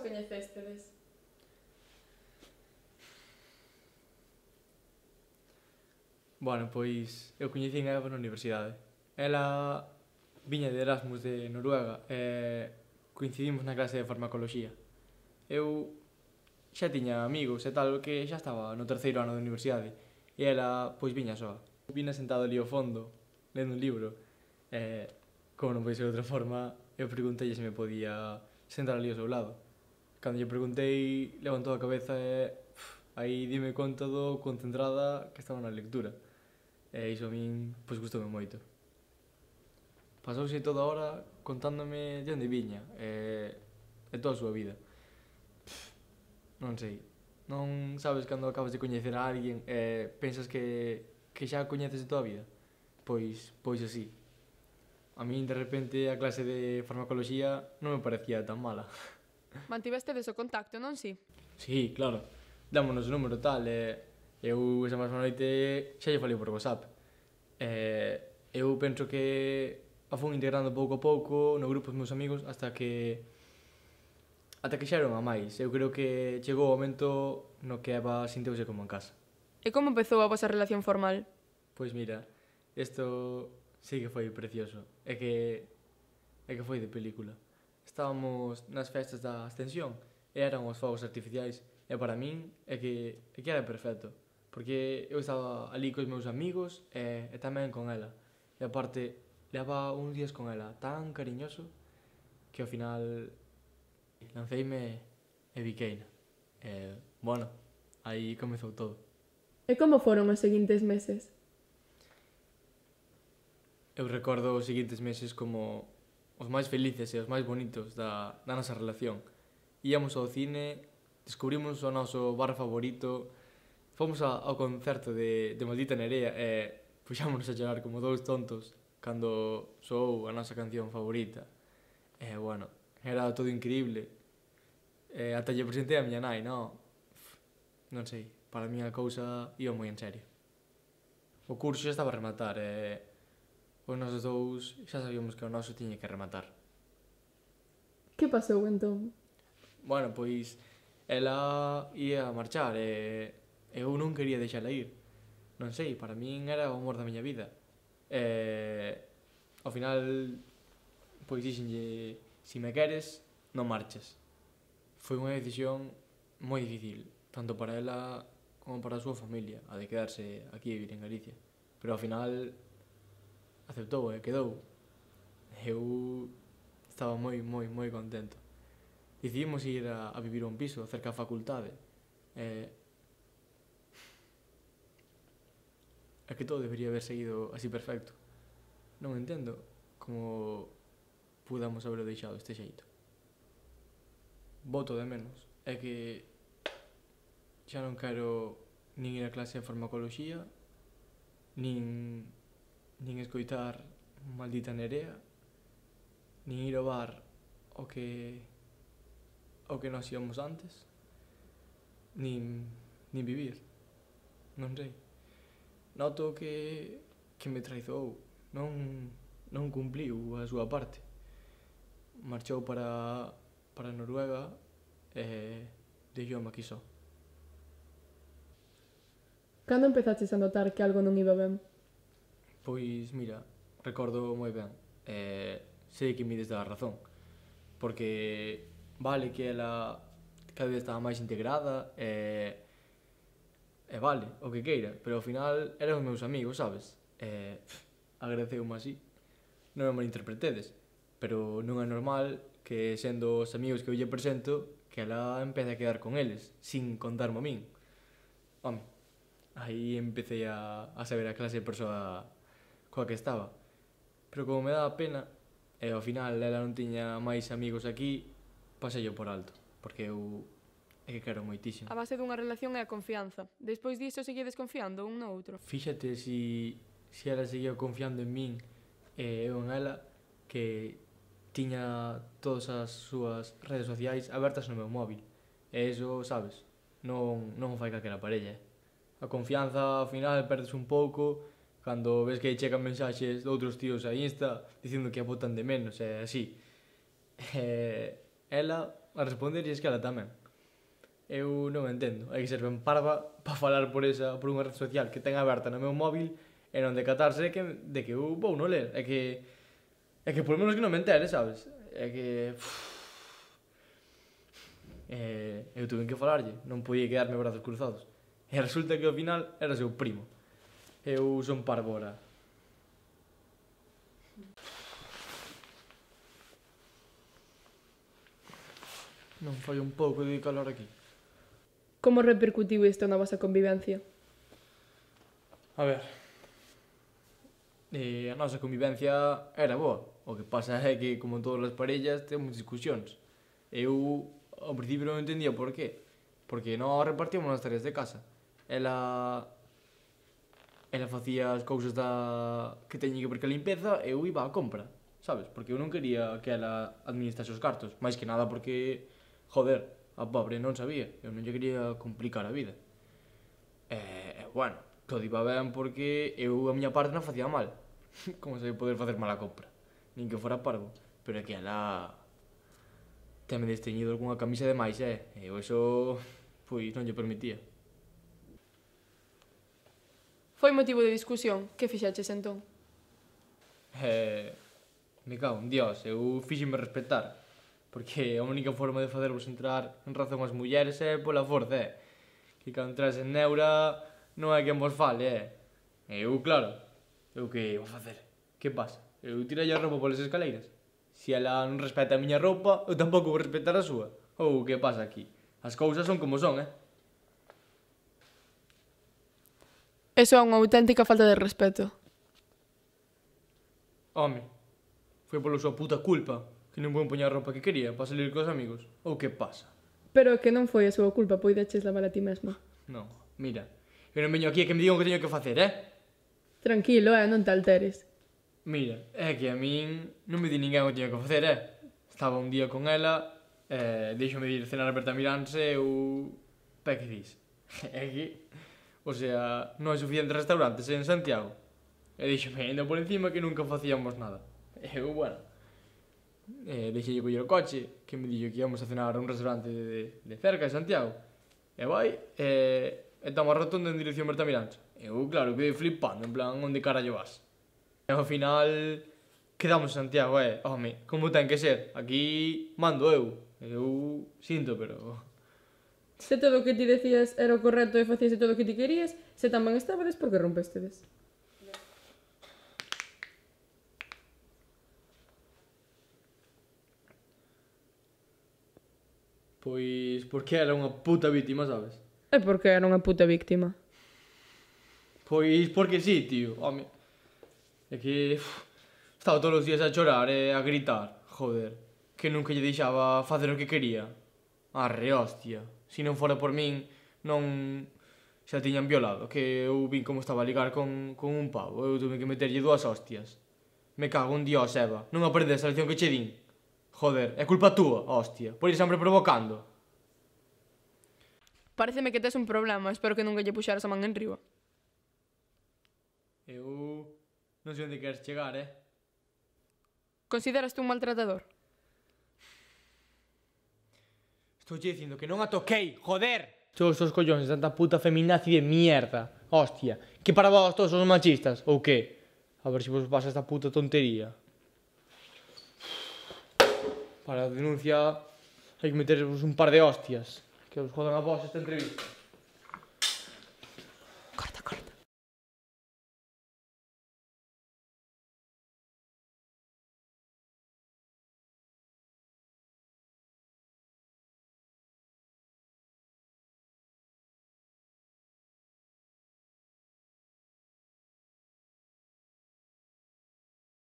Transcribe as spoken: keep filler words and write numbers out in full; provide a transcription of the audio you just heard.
coñecéstedes? Bueno, pois eu coñecín a Eva na universidade. Ela viña de Erasmus de Noruega e coincidimos na clase de farmacoloxía. Eu xa tiña amigos e tal que xa estaba no terceiro ano da universidade e ela pois viña soa. Vina sentado ali ao fondo, lendo un libro e, como non pode ser de outra forma, eu preguntei se me podía sentar ali ao seu lado. Cando lle preguntei, levantou a cabeza e uf, aí dime conta do concentrada que estaba na lectura. E iso a min, pois, gustoume moito. Pasouse toda a hora contándome de onde viña e, e toda a súa vida. Pff, non sei. Non sabes cando acabas de coñecer a alguén e pensas que, que xa a coñeces de toda a vida? Pois, pois así. A min, de repente, a clase de farmacoloxía non me parecía tan mala. Mantivestedes o contacto, non si? Sí, claro. Dámonos o número tal e eu esa mesma noite xa lle falei por WhatsApp. E eu penso que a fun integrando pouco a pouco no grupo dos meus amigos hasta que ata que xa era unha máis. Eu creo que chegou o momento no que Eva sinteuse como en casa. E como empezou a vosa relación formal? Pois mira, isto sí que foi precioso. É que é que foi de película. Estábamos nas festas da Ascensión e eran os fogos artificiais e para min é que, é que era perfecto porque eu estaba ali cos meus amigos e, e tamén con ela e aparte leva uns días con ela tan cariñoso que ao final lanceime e biqueina e, bueno, aí comezou todo. E como foron os seguintes meses? Eu recordo os seguintes meses como os máis felices e os máis bonitos da, da nosa relación. Íamos ao cine, descubrimos o noso bar favorito, fomos a, ao concerto de, de Maldita Nerea e puxámonos a chorar como dous tontos cando soou a nosa canción favorita. E, bueno, era todo increíble. E ata lle presentei a miña nai, non? Non sei, para mí a cousa iba moi en serio. O curso xa estaba a rematar e os nosos dous xa sabíamos que o noso tiña que rematar. Que pasou entón? Bueno, pois ela ia a marchar e eu non quería deixala ir. Non sei, para min era o amor da miña vida. E ao final pois dixenlle, si me queres, non marches. Foi unha decisión moi difícil, tanto para ela como para a súa familia, a de quedarse aquí a vivir en Galicia. Pero ao final aceptou e quedou. Eu estaba moi, moi, moi contento. Decidimos ir a, a vivir a un piso cerca da facultade. E... é que todo debería haber seguido así perfecto. Non entendo como pudamos haberlo deixado deste xeito. Boto de menos. É que xa non quero nin ir a clase de farmacoloxía, nin, nin escoitar Maldita Nerea, nin ir ao bar o que o que nos íamos antes, nin, nin vivir. Non sei. Noto que, que me traizou. Non, non cumpliu a súa parte. Marchou para, para Noruega e deixoume aquí só. Cando empezaches a notar que algo non iba ben? Pois, mira, recordo moi ben. E sei que me des da razón. Porque vale que ela cada vez estaba máis integrada e, e vale, o que queira, pero ao final eran os meus amigos, sabes? E agradeceume así. Non me malinterpretedes, pero non é normal que sendo os amigos que eu lle presento que ela empece a quedar con eles, sin contarme a min. Home, aí empecé a, a saber a clase de persoa coa que estaba. Pero como me daba pena, e ao final ela non tiña máis amigos aquí, pasei por alto, porque eu é que quero moitísimo. A base dunha relación é a confianza. Despois disso seguides confiando un no outro. Fíxate si, si ela seguía confiando en min e eu en ela, que tiña todas as súas redes sociais abertas no meu móvil. E iso, sabes, non, non o fai calquera parella. A confianza, ao final, perdes un pouco cando ves que chegan mensaxes de outros tíos a Insta dicindo que a botan de menos e así. E ela a responder e es que ela tamén. Eu non entendo. Hai que ser ben parva para falar por esa por unha rede social que ten aberta no meu móvil e non decatarse de que, de que eu vou non ler. É que, é que por menos que non me entere, sabes? É que... Uf, eh, eu tuve que falarlle, non podía quedarme brazos cruzados. E resulta que ao final era seu primo. Eu son parvo ora. Non fai un pouco de calor aquí. Como repercutiu isto na vosa convivencia? A ver, eh, a nosa convivencia era boa. O que pasa é que, como en todas as parellas, temos discusións. Eu, ao principio, non entendía por qué. Porque nós repartíamos as tareas de casa. Ela... Ela facía as cousas da... que teña que ver que a limpeza e eu iba á compra, sabes? Porque eu non quería que ela administrase os cartos. Mais que nada porque, joder, a pobre non sabía. Eu non lle quería complicar a vida. E, bueno, todo iba ben porque eu a miña parte non facía mal. Como se poder facer mal a compra? Nin que fora parvo. Pero é que ela... Teme desteñido algunha camisa de máis, eh? E eu eso... Pois non lle permitía. Foi motivo de discusión? Que fixeches entón? Eh... Me cago en Dios, eu fíxeme respetar. Porque a única forma de facervos entrar en razón as mulleres é pola forza, é. Que cando entras en neura non é quen vos fale, é. E eu, claro, eu que vou facer? Que pasa? Eu tirei a roupa polas escaleiras. Se ela non respeta a miña roupa, eu tampouco vou respetar a súa. Ou que pasa aquí? As cousas son como son, eh? Eso é unha auténtica falta de respeto. Home, foi pola súa puta culpa que non vou poñer a roupa que quería para salir cos amigos. Ou que pasa? Pero que non foi a súa culpa, poideches lavar a ti mesma. Non, mira, eu non veño aquí a que me digan o que teño que facer, eh? Tranquilo, eh, non te alteres. Mira, é que a min non me di ninguén o que teño que facer, eh? Estaba un día con ela, eh, deixome de ir cenar a Bertamiráns e eu... Pa que dis? É que... O sea, non hai suficientes restaurantes en Santiago. E díxome ainda por encima que nunca facíamos nada. E eu, bueno... Eh, deixei coller o coche, que me dixo que íamos a cenar a un restaurante de, de cerca de Santiago. E vai, e, e toma a rotonda en dirección Bertamiráns. E eu, claro, quedei flipando, en plan, onde carallo vas? E ao final, quedamos en Santiago, eh, home, como ten que ser? Aquí mando eu. Eu sinto, pero... Se todo o que ti decías era o correcto e facíase todo o que ti querías, se tan ben estabades, por que rompestedes? Pois porque era unha puta vítima, sabes? E por que era unha puta víctima? Pois porque sí, tío, home. É que... Uf, estaba todos os días a chorar e a gritar, joder. Que nunca lle deixaba facer o que quería. Arre, hostia. Se non fora por min, non... xa tiñan violado, que eu vin como estaba a ligar con, con un pavo. Eu tuve que meterlle dúas hostias. Me cago en Dios, Eva. Non aprendes a lección que che din. Joder, é culpa túa, hostia, por ir sempre provocando. Pareceme que tes un problema, espero que nunca lle puxaras a man en riba. Eu non sei onde queres chegar, eh? Consideraste un maltratador? Estou che dicindo que non a toquei, joder! Todos os collóns de tanta puta feminazi de mierda, hostia. Que para vos todos os machistas, ou que? A ver se vos pasa esta puta tontería. Para a denuncia hai que metervos un par de hostias. Que os jodan a vos esta entrevista.